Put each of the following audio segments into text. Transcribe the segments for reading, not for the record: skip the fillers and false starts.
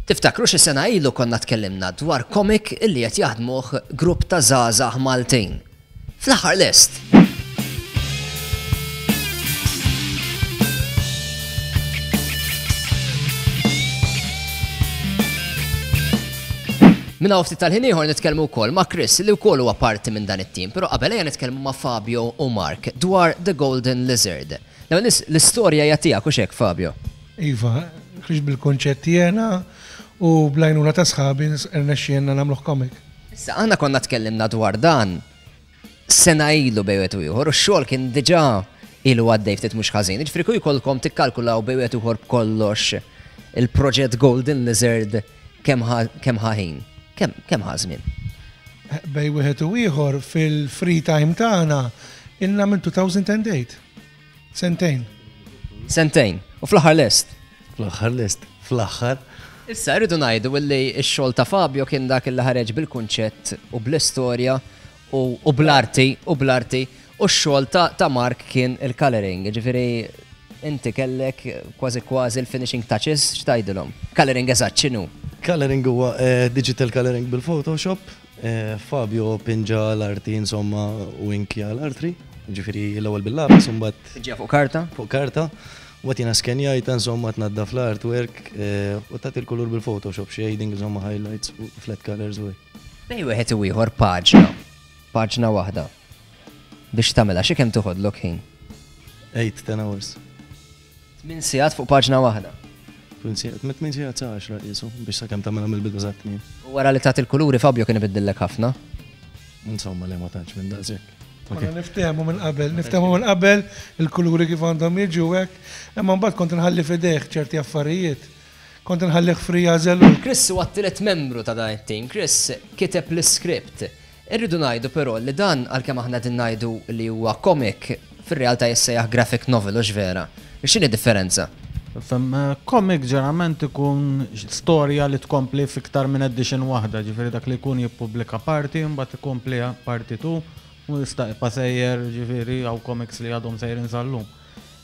Tiftakru xi sena ilu konna tkellimna dwar comic illi qed jaħdmuh grupp ta' żgħażagħ Maltin. Fl-aħħar lest! Minn hawn ftit tal-ħin ieħor nitkellmu wkoll ma' Chris li wkoll huwa parti minn dan it-tim, però qabel ejja nitkellmu ma' Fabio u Mark dwar The Golden Lizard. L-ewwel nies l-istorja hija tiegħek hux hekk Fabio? Iva, ħriġt bil-kunċett jiena u bl-għajnuna ta' sħabi rnexxielna nagħmluh comic. Issa aħna konna tkellimna dwar dan sena ilu bejn wieħed u ieħor u x-xogħol kien diġà ilu għaddej ftit mhux ħażin. Jiġifieri kieku jkollkom tikkalkulaw bejn wieħed u ieħor b'kollox il-proġett Golden Lizard kemm ħa kemm ħa ħin? Kemm kemm ħa żmien? Bejn wieħed u ieħor fil-free time tagħna ilna minn 2008. Sentejn. Sentejn. U fl-aħħar lest. Fl-aħħar lest. Fl-aħħar. Issa rridu ngħidu illi x-xogħol ta' Fabio kien dak illi ħareġ bil-kunċett u bl-istorja u bl-arti u bl-arti u x-xogħol ta' Mark kien il-coloring. Ġifieri inti kellek kważi kważi l-finishing touches x'tgħidilhom? Coloring eżatt x'inhu? Coloring huwa eh, digital coloring bil-Photoshop. Eh, Fabio pinġa l-arti insomma u inkja l-arti, ġifieri l-ewwel bil-lapis u mbagħad Pinġa fuq karta? Fuq karta. Mbagħad jiena skenjajtha insomma tnaddaf l-artwork u tagħti l-kulur bil-Photoshop, shading, insomma highlights u flat colors u hekk. Bejn wieħed u ieħor paġna, paġna waħda. Biex tagħmilha xi kemm toħodlok ħin? 8, 10 hours. 8 sigħat fuq paġna waħda. 8 sigħat, mit 8 sigħat sa 10 qisu biex sakemm tagħmilha mill-bidu sat-tmiem. U wara li tagħti l-kuluri Fabio kien ibiddillek ħafna? Insomma le ma tantx minn daqshekk. Konna niftehmu minn qabel, niftehmu minn qabel il-kuluri kif għandhom jiġu hekk, imma mbagħad kont inħalli f'idejh ċerti affarijiet. Kont inħallih free jagħżel hu. Chris huwa t-tielet membru ta' dan it-tim. Chris kiteb l-iskript. Irridu ngħidu però li dan għalkemm aħna qegħdin ngħidu li huwa comic, fir-realtà jissejjaħ graphic novel, hux vera? X'inhi d-differenza? Fem, comic ġeneralment ikun storja li tkompli f'iktar minn edition waħda, ġifieri dak li jkun jippubblika parti, mbagħad ikompli parti tu, u jista' jibqa' sejjer, ġifieri hawn comics li għadhom sejrin sal-lum.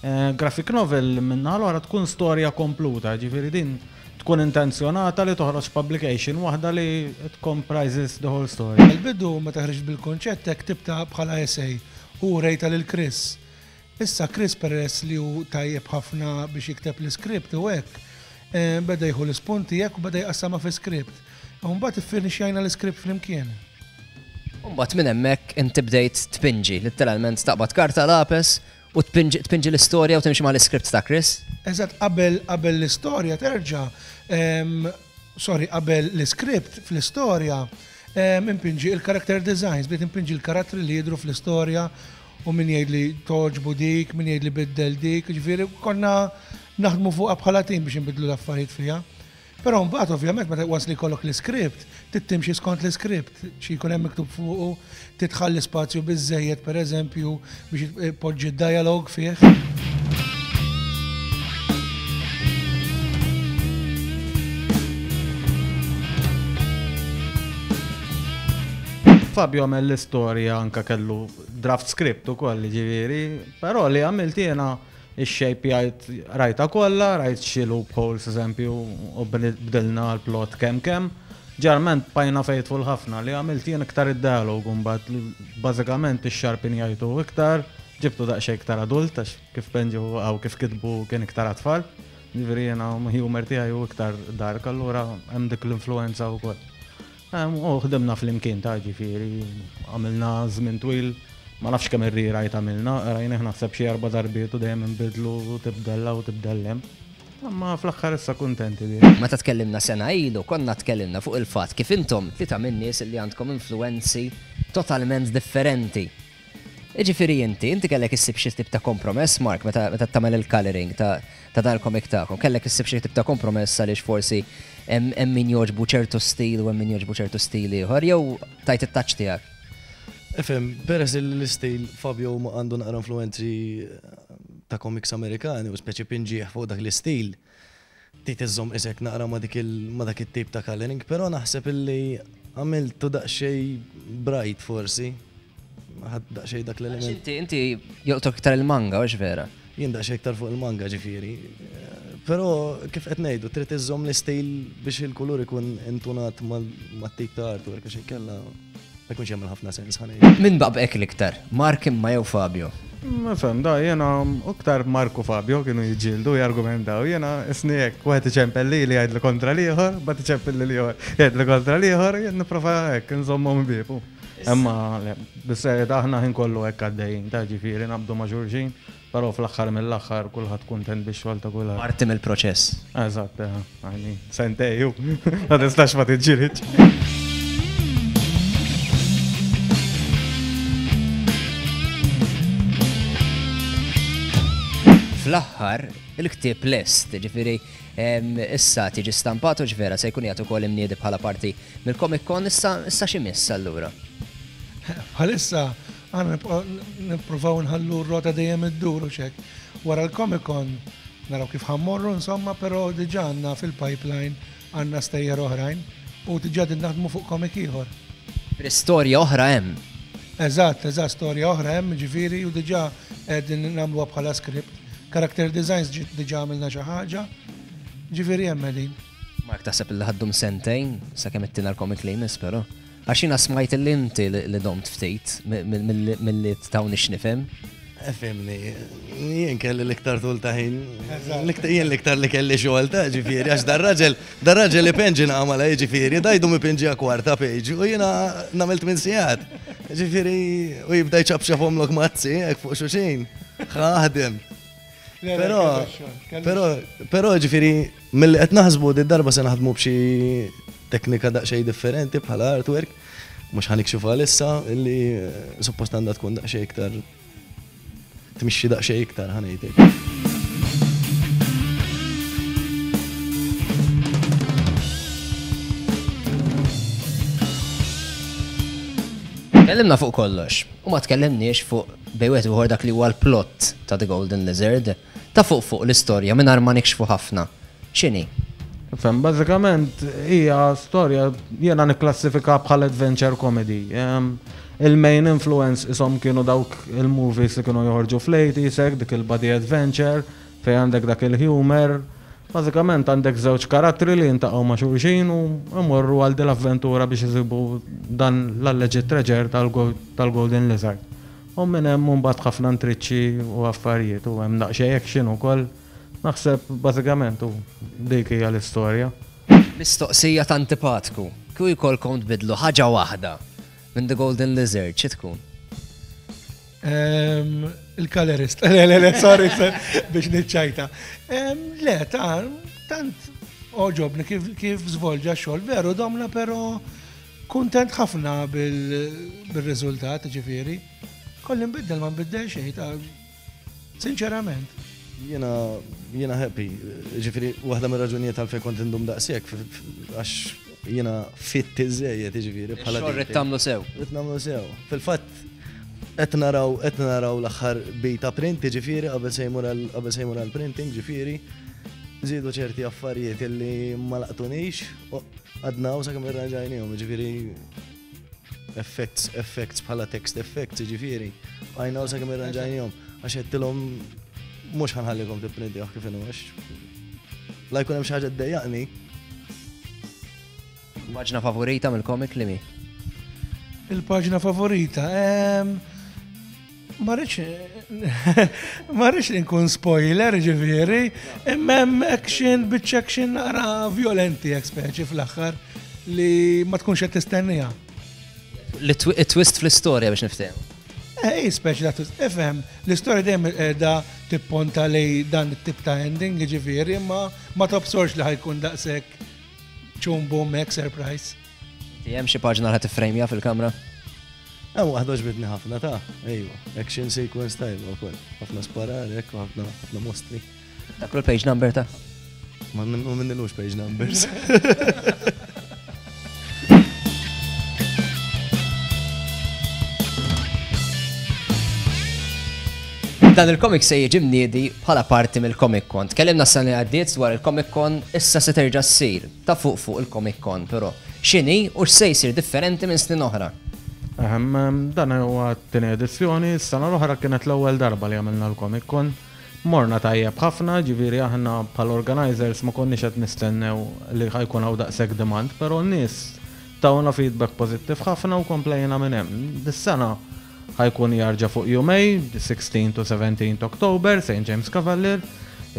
Eh, graphic novel minna l-oħra tkun storja kompluta, ġifieri din tkun intenzjonata li toħroġ publication waħda li it comprises the whole story. Il-bidu meta ħriġt bil-konċett hekk ktibtha bħala essay u rejta lil Chris. Issa Chris peress li hu tajjeb ħafna biex jikteb l-iskript u hekk, beda jieħu l-ispunti hekk u beda jqassamha fi skript. U mbagħad iffinixxjajna l-iskript flimkien. U mbagħad minn hemmhekk inti bdejt tpinġi, litteralment taqbad karta lapes u tpinġi tpinġi l-istorja u timxi mal-iskript ta' Chris? Eżatt, qabel qabel l-istorja terġa' sorry, qabel l-iskript fl-istorja inpinġi il-character designs, bdejt inpinġi l-karattri li jidhru fl-istorja u min jgħidli togħġbu dik, min jgħidli biddel dik, jiġifieri konna naħdmu fuqha bħala tim biex inbiddlu l-affarijiet fiha. Però mbagħad ovvjament meta once li jkollok l-iskript, trid timxi skont l-iskript, xi jkun hemm miktub fuqu, trid tħalli spazju biżżejjed pereżempju biex tpoġġi d-dialogue fih. Fabio għamel l-istorja anka kellu draft script ukoll ġifieri, però li għamilt jiena ix-shape jgħid rajta kollha, rajt xi loopholes eżempju u bdilna l-plot kemm kemm. Ġarment bqajna faithful ħafna li għamilt jien iktar id-dialogue mbagħad bażikament ix-sharpen jgħidu iktar, ġibtu daqsxejn iktar adult għax kif penġu għaw kif kitbu kien iktar għat-tfal. Ġifieri jiena humor tiegħi hu iktar dark allura hemm dik l-influenza wkoll. U ħdimna flimkien ta' ġifieri, għamilna żmien twil, ma nafx kemm ir-rewrite għamilna, rajnih naħseb xi erba' darbiet u dejjem inbidlu u tibdel hawn u tibdel hemm. Imma fl-aħħar issa kuntenti bih. Meta tkellimna sena ilu, konna tkellimna fuq il-fatt kif intom tlieta min-nies li għandkom influwenzi totalment differenti. Jiġifieri inti, inti kellek issib xi tip ta' kompromess, Mark, meta meta tagħmel il-colouring ta' ta' dan il-comic tagħkom, kellek issib xi tip ta' kompromess għaliex forsi hemm hemm min jogħġbu ċertu stil u hemm min jogħġbu ċertu stil ieħor, jew tajt it-touch tiegħek? Ifhem, peress li l-istil Fabio huma għandu naqra influwenzi ta' comics Amerikani u speċi pinġieh fuq dak l-istil, trid iżżomm isek naqra ma' dik il ma' dak it-tip ta' colouring, però naħseb illi għamiltu daqsxejn bright forsi. Ħadt daqsxejn dak l-element. Inti inti jolqtok iktar il-manga, hux vera? Jien daqsxejn iktar fuq il-manga ġifieri. Però kif qed ngħidu, trid iżżomm l-istil biex il-kulur ikun intunat mat-tip ta' artwork għax inkella ma jkunx jagħmel ħafna sens ħa ngħidu. Min baqbqek l-iktar, Mark imma jew Fabio? Nifhem, da jiena iktar Mark u Fabio kienu jiġġieldu jargumentaw, jiena isni hekk, wieħed iċempel lili jgħidli kontra l-ieħor, mbagħad iċempel lil ieħor jgħidli kontra l-ieħor, jien nipprova hekk inżommhom ħbieb. Imma le, bis-serjetà aħna ħin kollu hekk għaddejjin, ta' ġifieri naqbdu ma' xulxin. Però fl-aħħar mill-aħħar kulħadd kuntent bix-xogħol ta' kulħadd. Parti mill-proċess. Eżatt, għajni, sentej ju, ma tistax ma tiġġielidx. Fl-aħħar, il-ktieb lest, ġifieri issa tiġi stampat u ġvera se jkun qiegħed ukoll imniedi bħala parti mill-Comic Con, issa issa x'imiss allura? Bħalissa Aħna nibqgħu nippruvaw nħallu r-rota dejjem iddur u x'hekk. Wara l-Comic Con naraw kif ħa mmorru insomma, però diġà għandna fil-pipeline għandna stejjer oħrajn u diġà qegħdin naħdmu fuq comic ieħor. Ġifieri storja oħra hemm. Eżatt, eżatt, storja oħra hemm, ġifieri u diġà qegħdin nagħmluha bħala script. Character designs diġà għamilna xi ħaġa, ġifieri hemm qegħdin. Mark taħseb li ħa ddum sentejn sakemm ittina l-comic li jmiss però? Għax jiena smajt li inti li domt ftit milli tawni x'nifhem. Fimni, jien kelli l-iktar tul ta' ħin. Jien l-iktar li kelli xogħol ta' ġifieri, għax dar-raġel, dar-raġel ipenġi nagħmel ġifieri, dajdu mipenġi kwarta page u jiena nagħmel tmien sigħat. Ġifieri, u jibda jċapċaphomlok mazzi hekk fuq xulxin. Ħaħdem. Però, però, però ġifieri, Milli qed naħsbu di darba se naħdmu b'xi teknika daqsxejn differenti bħala artwork, mhux ħa nikxifha għalissa, illi suppost għandha tkun daqsxejn iktar tmixxi daqsxejn iktar ħa ngħid hekk. Tkellimna fuq kollox u ma tkellimniex fuq bejn wieħed u ieħor dak li huwa l-plot ta' The Golden Lizard. Ta' fuq fuq l-istorja mingħajr ma nikxfu ħafna. X'inhi? Fem, bażikament hija storja jiena nikklassifika bħal adventure comedy. Il-main influence ishom kienu dawk il-movies li kienu joħorġu fl-80s hekk, dik il-buddy adventure fejn għandek dak il-humor. Bażikament għandek żewġ karattri li jintaqgħu ma' xulxin u jmorru għal din l-avventura biex isibu dan l-alleged treasure tal-Golden Lizard. U minn hemm imbagħad ħafna intriċċi u affarijiet u hemm daqsxejn action ukoll. Naħseb bażikament u dik hija l-istorja. Mistoqsija ta' antipatku, kieku jkollkom tbiddlu ħaġa waħda minn The Golden Lizard, xi tkun? Il-colorist. Le, le, le, sorry, biex niċċajta. Le, ta' tant għoġobni kif żvolġa x-xogħol, veru domna però Kuntent ħafna bil-riżultat, ġifieri. Kolli nbiddel ma nbiddel xejn ta' sinċerament. Jiena jiena happy, ġifieri waħda mir-raġunijiet għalfejn kont indum daqshekk għax jiena fit iżejjed, ġifieri bħala. Xogħol rid tagħmlu sew. Rid nagħmlu sew. Fil-fatt qed naraw qed naraw l-aħħar beta print, ġifieri qabel se jmur qabel se jmur għall-printing, ġifieri żiedu ċerti affarijiet illi ma laqtunix. Għadna hawn sakemm irranġajnihom, jiġifieri effects, effects bħala text effects, jiġifieri. Għajna hawn sakemm irranġajnihom għax għedtilhom mhux ħanħallikom tipprintjah kif inhu għax la jkun hemm xi ħaġa ddejjaqni. Paġna favorita mill-comic li mi? Il-paġna favorita, ehm, Ma rridx ma rridx li nkun spoiler ġifieri, imma hemm action biċ action naqra violenti hekk speċi fl-aħħar li ma tkunx qed tistenniha. Li twist fl-istorja biex niftehmu. Eh, speċi ta' twist. Ifhem, l-istorja dejjem qiegħda tipponta lej dan it-tip ta' ending, ġifieri, imma ma tobsorx li ħa jkun daqshekk ċum boom hekk surprise. Hemm xi paġna li tifrejmja fil-kamra? Hemm waħda għoġbitni ħafna ta' ejwa, action sequence tajba wkoll. Ħafna sparar, hekk, ħafna ħafna mostri. Dak l-page number ta' Ma minnilux page numbers. Dan il-comic se jiġi mniedi bħala parti mill-Comic Con. Tkellimna s-sena li għaddiet dwar il-Comic Con, issa se terġa' ssir ta' fuq fuq il-Comic Con, però x'inhi u x'se jsir differenti minn snin oħra? Ehem, dan huwa t-tieni edizzjoni, s-sena l-oħra kienet l-ewwel darba li għamilna l-Comic Con. Morna tajjeb ħafna, ġifieri aħna bħala organizers ma konniex qed nistennew li ħa jkun hawn daqshekk demand, però n-nies tawna feedback pożittiv ħafna u komplejna minn hemm. Dis-sena ħa jkun jarġa' fuq jumejn, 16 to 17 October, St. James Cavalier,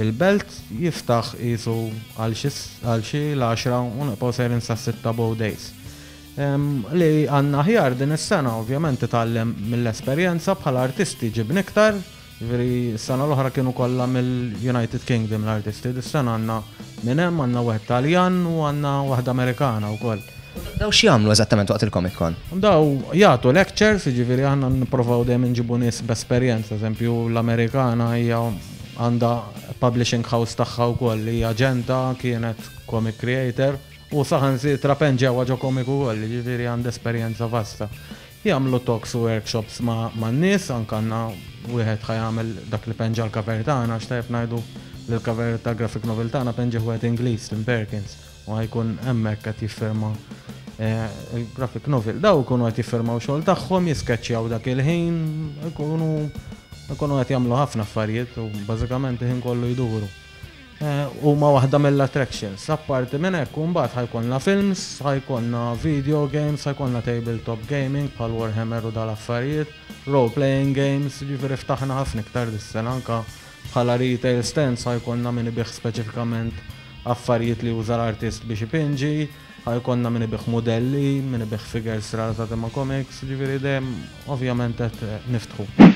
il-Belt, jiftaħ qisu għal xi l-għaxra u nibqgħu sejrin sas-sitta both days. Li għandna aħjar din is-sena, ovvjament titgħallem mill-esperjenza, bħala artisti ġibna iktar, jiġifieri s-sena l-oħra kienu kollha mill-United Kingdom l-artisti, dis-sena għandna minn hemm, għandna wieħed Taljan u għandna waħda Amerikana wkoll. Daw x'jagħmlu eżattament waqt il-Comic Con? Daw jagħtu lectures, jiġifieri aħna nipprovaw dejjem inġibu nies b'esperjenza, eżempju l-Amerikana hija għandha publishing house tagħha wkoll, hija aġenta, kienet comic creator u saħansitra penġewha ġo comic ukoll, jiġifieri għandha esperjenza vasta. Jagħmlu talks u workshops man-nies, anke għandna wieħed ħa jagħmel dak li penġa l-cover tagħna, għax tajjeb ngħidu li l-cover ta' graphic novel tagħna penġih wieħed Ingliż, Tim Perkins, u ħa jkun hemmhekk qed jiffirma il-graphic novel. Daw ikunu qed jiffirmaw xogħol tagħhom, jiskeċċjaw dak il-ħin, ikunu ikunu qed jagħmlu ħafna affarijiet u bażikament il-ħin kollu jduru. Huma waħda mill-attractions. Apparti minn hekk, mbagħad ħa jkollna films, ħa jkollna video games, ħa jkollna tabletop gaming bħal Warhammer u dal-affarijiet, role playing games, ġifieri ftaħna ħafna iktar dis-sena, anka bħala retail stands ħa jkollna min ibigħ speċifikament affarijiet li juża l-artist biex ipinġi, ħa jkollna min ibigħ modelli, min ibigħ figures relatati ma' comics, ġifieri dejjem ovvjament qed niftħu.